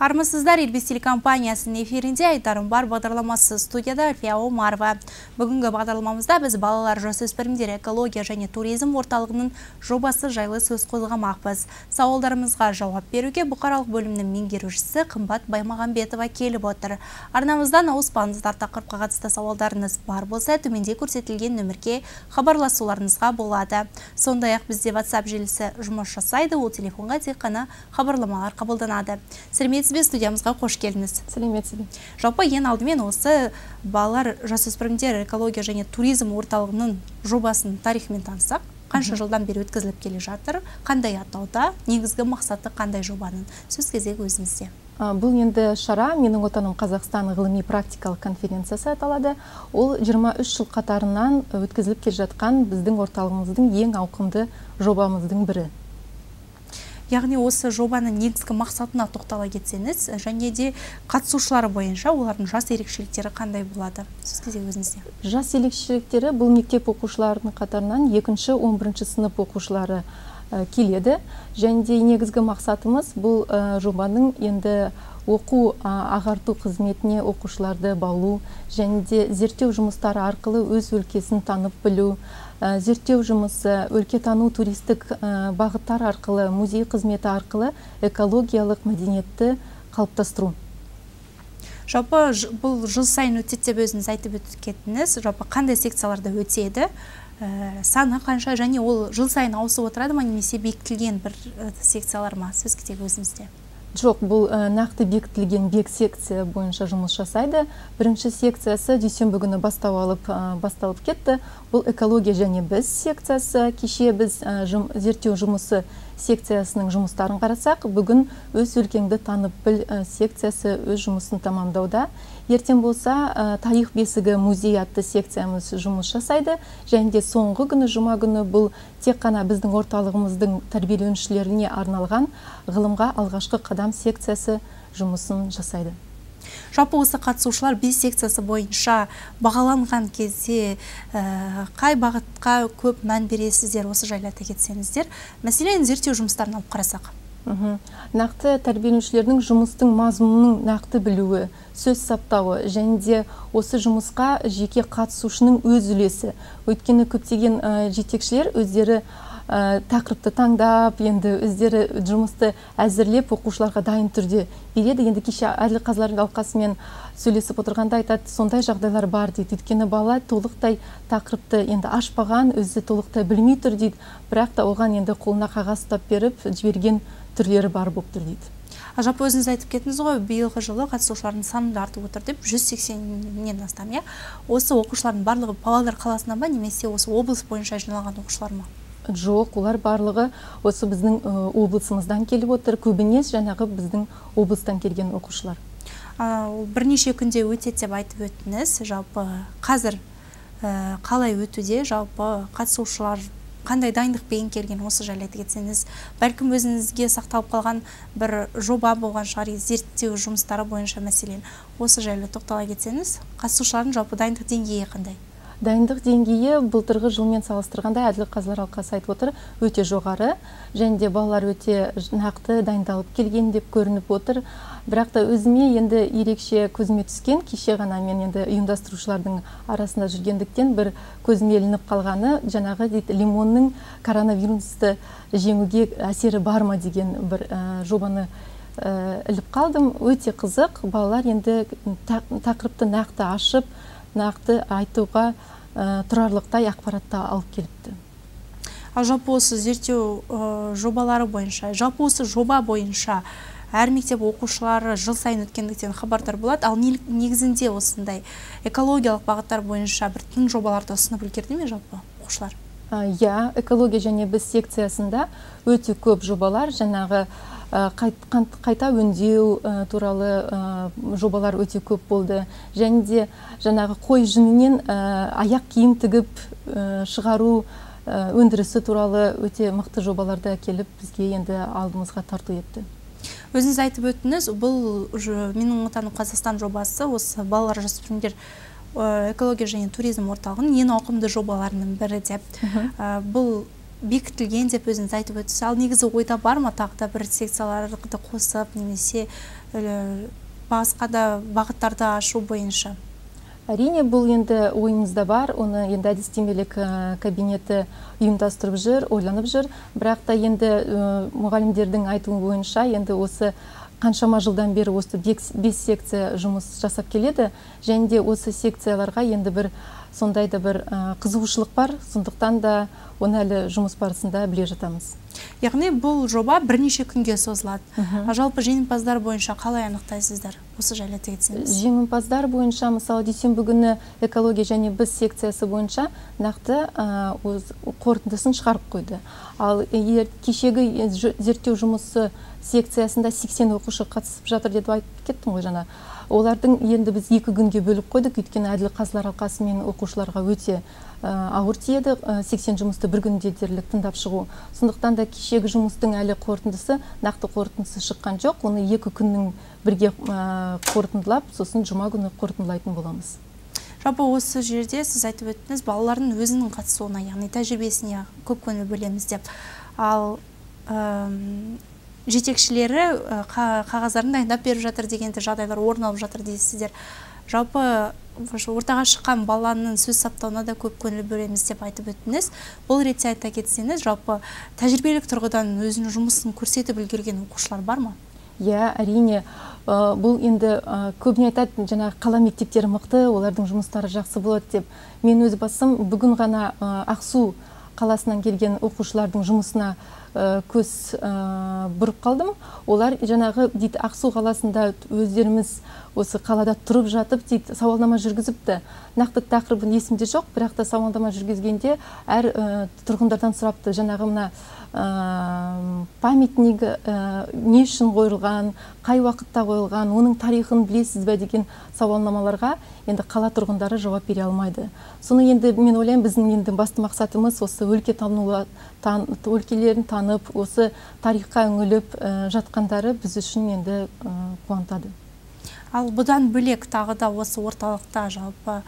Армысыздар, Елбес телекомпаниясының эфирінде айтарым бар бағдарламасы студияда Альфия Омарова. Бүгінгі бағдарламамызда біз балалар жасөспірімдер экология және туризм орталығының жобасы жайлы сөз қозғамақпыз. Сауалдарымызға жауап беруге бұқаралық бөлімнің меңгерушісі Қымбат Баймағамбетова келіп отыр. Арнамыздан ауыспаңыздар, тақырыпқа қатысты сауалдарыңыз бар болса, төменде көрсетілген нөмірге хабарласуларыңызға болады. Сондай-ақ бізде WhatsApp желісі жұмыс жасайды, ол телефонға тек қана хабарламалар қабылданады. Сәлеметсіз, студиямызға қош келдіңіз. Сәлеметсіз. Жалпы ең алдымен осы балалар жасөспірімдер экология және туризм орталығының жобасының тарихымен танысақ, қанша жылдан бері өткізіліп келе жатыр, қандай атауда, негізгі мақсаты қандай жобаның? Сөз кезегі өзіңізде. Бұл енді шара менің отаным Қазақстан ғылыми практикалық конференциясы аталады. Ол 23 жыл қатарынан өткізіліп келе жатқан біздің орталығымыздың ең ауқымды жобамыздың бірі. Яғни осы жобаның негізгі мақсатына тоқтала кетсеңіз, және де қатысушылары бойынша олардың жас ерекшеліктері қандай болады? Сөз кезегі өзіңізде. Жас ерекшеліктері бұл мектеп оқушыларының қатарынан 2-11 сынып оқушылары келеді. Және де негізгі мақсатымыз бұл жобаның енді оқу ағарту қызметіне оқушыларды баулу, және де зерттеу жұмыстары арқылы өз өлкесін танып білу, зерттеу жұмысы, өлкетану туристік бағыттар арқылы, музей қызметі арқылы экологиялық мәдениетті қалыптастыру. Жалпы бұл жыл сайын өтеді деп өзіңіз айтып өткендіңіз. Жалпы қандай секцияларда өтеді? Саны қанша, және ол жыл сайын ауысып отырады ма, немесе бекітілген бір секциялар ма? Сөз кезегі өзіңізде. Жоқ, бұл нақты бекітілген секция бойынша жұмыс жасайды. Бірінші секциясы дүйсенбі күні басталып кетті. Бұл экология және біз секциясы. Кеше біз зерттеу жұмысы секциясының жұмыстарын қарасақ, бүгін өз өлкеңді танып біл секциясы өз жұмысын тамамдауда. Ертең болса, тарих бесігі музей атты секциямыз жұмыс жасайды. Және де соңғы күні, жұма күні бұл тек қана біздің орталығымыздың тәрбиеленушілеріне арналған ғылымға алғашқы қадам секциясы жұмысын жасайды. Жалпы осы қатысушылар 5 секциясы бойынша бағаланған кезде қай бағытқа көп мән бересіздер, осы жайлы айта кетсеңіздер? Мәселен, зерттеу жұмыстарын алып қарасақ. Нақты тәрбиеленушілердің жұмыстың мазмұнының нақты білуі, сөз саптауы, және де осы жұмысқа жеке қатысушының өз үлесі. Өйткені көптеген жетекшілер өздері тақырыпты таңдап, енді өздері жұмысты әзірлеп оқушыларға дайын түрде береді. Енді кеше Әділ қазылар алқасымен сөйлесіп отырғанда айтады, сондай жағдайлар бар дейді. Өйткені бала толықтай тақырыпты енді ашпаған, өзі толықтай білмей тұр дейді. Бірақ та оған енді қолына қағаз ұстап беріп жіберген түрлері бар болып тұр дейді. Жалпы өзіңіз айтып кеттіңіз ғой, биылғы жылы қатысушылардың саны артып отыр деп, 180-нен астам, иә? Осы оқушылардың барлығы Павлодар қаласынан ба, немесе осы облыс бойынша жиналған оқушылар ма? Жоқ, олар барлығы осы біздің облысымыздан келіп отыр. Көбінес жаңағы біздің облыстан келген оқушылар. Бірнеше күнде өтеді деп айтып өттіңіз. Жалпы қазір қалай өтуде? Жалпы қатысушылар қандай дайындықпен келген, осы жайлы айта кетсеңіз? Бәлкім өзіңізге сақталып қалған бір жоба болған шығар, зерттеу жұмыстары бойынша мәселен. Осы жайлы тоқтала кетсеңіз, қатысушылардың жалпы дайындық деңгейі қандай? Дайындық деңгейі былтырғы жылмен салыстырғанда Әділ қазылар алқасы айтып отыр, өте жоғары, және де балалар өте нақты дайындалып келген деп көрініп отыр. Бірақ та өзіме енді ерекше көзіме түскен, кеше ғана мен енді ұйымдастырушылардың арасында жүргендіктен бір көзіме ілініп қалғаны, жаңағы дейді, лимонның коронавирусты жеңуге әсері бар ма деген бір жобаны іліп қалдым. Өте қызық, балалар енді тақырыпты нақты ашып, нақты айтуға тұрарлықтай ақпаратта алып келіпті. Жалпы осы зерттеу жобалары бойынша, жалпы осы жоба бойынша әр мектеп оқушылары жыл сайын өткендіктен хабардар болады, ал негізінде осындай экологиялық бағыттар бойынша бір тың жобаларды ұсынып үлгерді ме жалпы оқушылар? Я, экология және біз секциясында өте көп жобалар, жаңағы қайта өңдеу туралы жобалар өте көп болды. Және де жаңағы қой жүнінен аяқ киім тігіп шығару өндірісі туралы өте мықты жобаларды әкеліп бізге енді алдымызға тарту етті. Өзіңіз айтып өттіңіз, бұл менің отаным Қазақстан жобасы, осы балалар жасөспірімдер экология және туризм орталығының ең ауқымды жобаларының бірі деп. Бұл бекітілген деп өзіңіз айтып өттіңіз. Ал негізі ойда бар ма тағы да бір секцияларды қосып, немесе басқа да бағыттарды ашу бойынша? Әрине, бұл енді ойымызда бар, оны енді әдістемелік кабинеті ұйымдастырып жүр, ойланып жүр. Бірақ та енді мұғалімдердің айтуы бойынша, енді осы қаншама жылдан бері осы 5 секция жұмыс жасап келеді, және де осы секцияларға енді бір сондай да бір қызығушылық бар, сондықтан да оны әлі жұмыс барысында біле жатамыз. Яғни бұл жоба бірнеше күнге созылады. Жалпы жеңімпаздар бойынша қалай анықтайсыздар? Осы жайлы айтсаңыз. Жеңімпаздар бойынша, мысалы, дүйсенбі күні экология және біз секциясы бойынша нақты қорытындысын шығарып қойды. Ал кешегі зерттеу жұмысы секциясында 80 оқушы қатысып жатыр деп айтып кеттім ғой жаңа. Олардың енді біз 2 күнге бөліп қойдық, өйткені әділ қазылар алқасы мен оқушыларға өте ауыр тиеді, 80 жұмысты бір күнде дерлік тыңдап шығу. Сондықтан да кешегі жұмыстың әлі қорытындысы, нақты қорытындысы шыққан жоқ. Оны 2 күннің бірге қорытындылап, сосын жұма күні қорытындылайтын боламыз. Жалпы осы жерде сіз айтып өттіңіз, балалардың өзінің қатысуына, яғни тәжірибесіне көп көңіл бөлеміз деп. Ал жетекшілері қағаздарын дайындап беріп жатыр дегенде жағдайлар орын алып жатыр дейсіздер. Жалпы ортаға шыққан баланың сөз саптауына да көп көңіл бөлеміз деп айтып өттіңіз. Бұл ретте айта кетсеңіз, жалпы тәжірибелік тұрғыдан өзінің жұмысын көрсетіп үлгерген оқушылар бар ма? Иә, әрине, бұл енді көбіне айтады, жаңағы қала мектептері мықты, олардың жұмыстары жақсы болады деп. Мен өз басым бүгін ғана Ақсу қаласынан келген оқушылардың жұмысына көз бұрып қалдым. Олар жаңағы дейді Ақсу қаласында өздеріміз осы қалада тұрып жатып дейді сауалнама жүргізіпті. Нақты тақырыбын есімде жоқ, бірақ та сауалнама жүргізгенде әр тұрғындардан сұрапты, жаңағы мына памятник не үшін қойылған, қай уақытта қойылған, оның тарихын білесіз бе деген сауалнамаларға енді қала тұрғындары жауап бере алмайды. Соны енді мен ойлаймын, біздің енді басты мақсатымыз осы өлкелерін танып, осы тарихқа үңіліп жатқандары біз үшін енді қуантады. Ал бұдан бөлек тағы да осы орталықта жалпы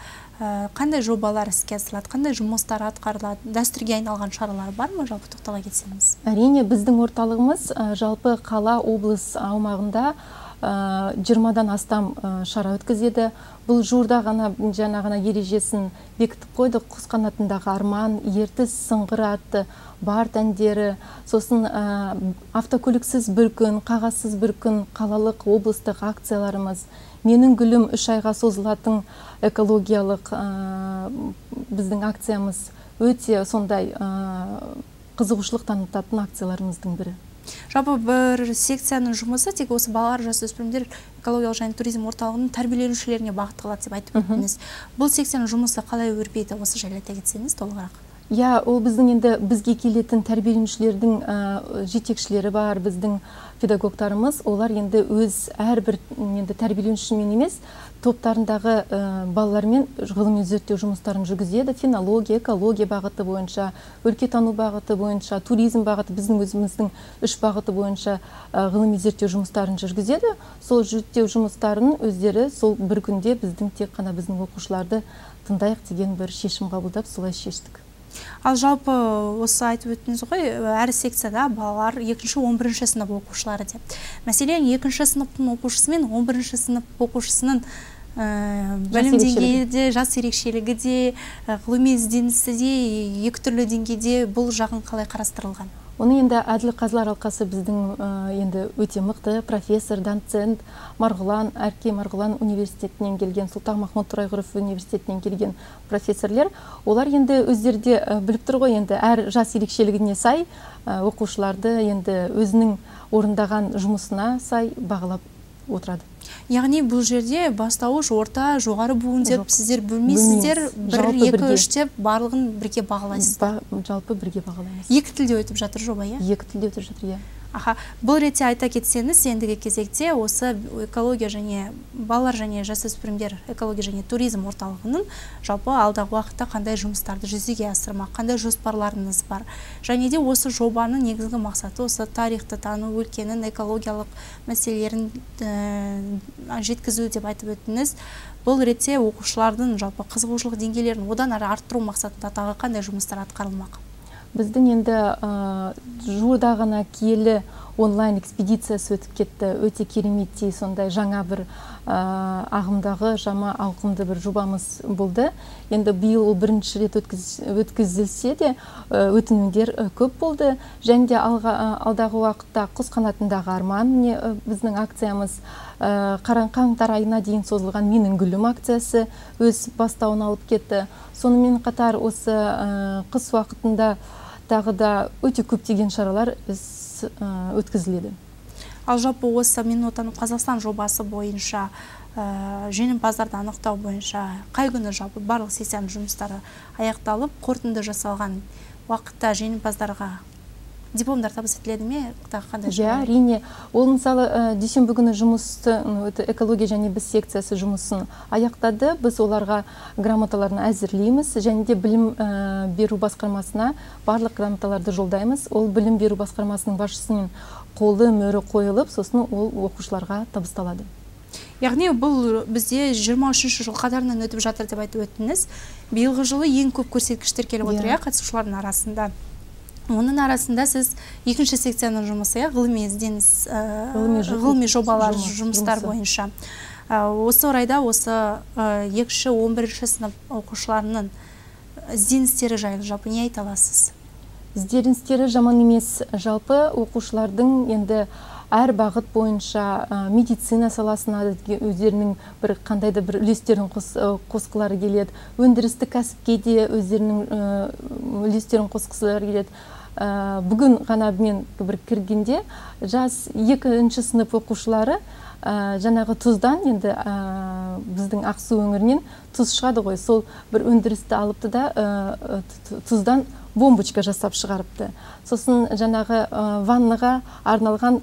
қандай жобалар іске асырылады, қандай жұмыстар атқарылады, дәстүрге айналған шаралар бар ма, жалпы тоқтала кетсеңіз? Әрине, біздің орталығымыз жалпы қала, облыс аумағында 20-дан астам шара өткізеді. Бұл жуырда ғана жаңағына ережесін бекітіп қойдық. Құс қанатындағы арман, ертіс сыңғыры атты бард әндері, сосын автокөліксіз бір күн, қағазсыз бір күн, қалалық облыстық акцияларымыз, менің гүлім 3 айға созылатын экологиялық біздің акциямыз өте сондай қызығушылық танытатын акцияларымыздың бірі. Жалпы бір секцияның жұмысы тек осы балалар, жасөспірімдер экологиялық және туризм орталығының тәрбиеленушілеріне бағытталады деп айтып өттіңіз. Бұл секцияның жұмысы қалай өрбиді, осы жайлы айта кетсеңіз толығырақ? Иә, ол біздің енді бізге келетін тәрбиеленушілердің жетекшілері бар, біздің педагогтарымыз, олар енді өз әрбір енді тәрбиеленушімен емес, топтарындағы балалармен ғылыми зерттеу жұмыстарын жүргізеді. Фенология, экология бағыты бойынша, өлкетану бағыты бойынша, туризм бағыты, біздің өзіміздің 3 бағыты бойынша ғылыми зерттеу жұмыстарын жүргізеді. Сол зерттеу жұмыстарын өздері сол бір күнде біздің тек қана біздің оқушыларды тыңдайық деген бір шешім қабылдап солай шештік. Ал жалпы осы айтып өттіңіз ғой, әр секцияда балалар 2-11 сынып оқушылары деп. Мәселен, 2 сыныптың оқушысы мен 11 сынып оқушысының білім деңгейі де, жас ерекшелігі де, ғылыми ізденісі де, екі түрлі деңгейде бұл жағын қалай қарастырылған? Оны енді әділ қазылар алқасы біздің енді өте мықты профессор, доцент Әрке Марғұлан университетінен келген, Сұлтанмахмұт Торайғыров университетінен келген профессорлер, олар енді өздерде біліп тұр ғой, енді әр жас ерекшелігіне сай оқушыларды енді өзінің орындаған жұмысына сай бағалап отырады. Яғни бұл жерде бастауыш, орта, жоғары буын деп сіздер бөлмейсіздер, 1-2-3 деп барлығын бірге бағалайсыздар? Жалпы бірге бағалаймыз. Екі тілде өтіп жатыр жоба, иә? Екі тілде өтіп жатыр, иә. Бұл ретте айта кетсеңіз, ендігі кезекте осы экология және балалар және жасөспірімдер экология және туризм орталығының жалпы алдағы уақытта қандай жұмыстарды жүзеге асырмақ, қандай жоспарларыңыз бар? Және де осы жобаның негізгі мақсаты осы тарихты тану, өлкенің экологиялық мәселелерін жеткізу деп айтып өттіңіз. Бұл ретте оқушылардың жалпы қызығушылық деңгейлерін одан әрі арттыру мақсатында тағы қандай жұмыстар атқарылмақ? Біздің енді жуырда ғана киелі онлайн экспедициясы өтіп кетті. Өте кереметтей сондай жаңа бір ағымдағы жама ауқымды бір жобамыз болды. Енді биыл ол бірінші рет өткізілсе де өтінімдер көп болды. Және де алдағы уақытта құс қанатындағы арман, біздің акциямыз қаңтар айына дейін созылған менің гүлім акциясы өз бастауын алып кетті. Сонымен қатар осы қыс уақытында тағы да өте көптеген шаралар өткізіледі. Ал жалпы осы Мен отаным Қазақстан жобасы бойынша жеңімпаздарды анықтау бойынша қай күні жалпы барлық сессияның жұмыстары аяқталып, қорытынды жасалған уақытта жеңімпаздарға дипломдар табыс етіледі ме? Әрине. Ол мысалы дүйсенбі күні жұмысты экология және біз секциясы жұмысын аяқтады. Біз оларға грамоталарын әзірлейміз және де білім беру басқармасына барлық грамоталарды жолдаймыз. Ол білім беру басқармасының басшысының қолы мөрі қойылып, сосын ол оқушыларға табысталады. Яғни бұл бізде 23-ші жыл қатарынан өтіп жатыр деп айтып өттіңіз. Биылғы жылы ең көп көрсеткіштер келіп отыр, қатысушылардың арасында. Оның арасында сіз екінші секцияның жұмысы, ғылыми ізденіс, ғылыми жобалар жұмыстар бойынша. Осы орайда осы 2-11 сынып оқушыларының ізденістері жайлы жалпы не айта аласыз? Ізденістері жаман емес. Жалпы оқушылардың енді әр бағыт бойынша медицина саласына өздерінің бір қандайда бір үлестерін қосқылары келеді. Өндірістік кәсіпке де өздерінің үлестерін қосқылары келеді. Бүгін ғана мен бір кіргенде жас 2-ші сынып оқушылары жаңағы тұздан, енді біздің Ақсу өңірінен тұз шығады ғой, сол бір өндірісті алыпты да тұздан бомбочка жасап шығарыпты. Сосын жаңағы ваннаға арналған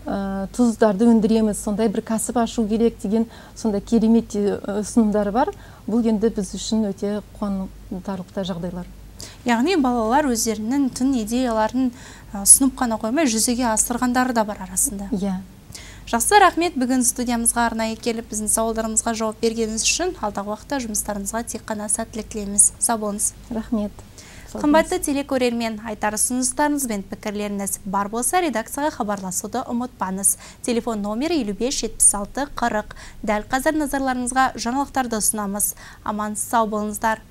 тұздарды өндіреміз, сондай бір кәсіп ашу керек деген сондай керемет ұсынымдары бар. Бұл енді біз үшін өте қуантарлықтай жағдайлар. Яғни балалар өздерінің тың идеяларын ұсынып қана қоймай, жүзеге асырғандары да бар арасында. Жақсы, рахмет, бүгін студиямызға арнайы келіп, біздің сауалдарымызға жауап бергеніңіз үшін. Алдағы уақытта жұмыстарыңызға тек қана сәттілік тілейміз. Сау болыңыз. Рахмет. Қымбатты телекөрермен, айтар ұсыныстарыңыз бен пікірлеріңіз бар болса, редакцияға хабарласуды ұмытпаңыз. Телефон номері 55 76 40. Дәл қазір назарларыңызға жаңалықтарды ұсынамыз. Аман сау болыңыздар.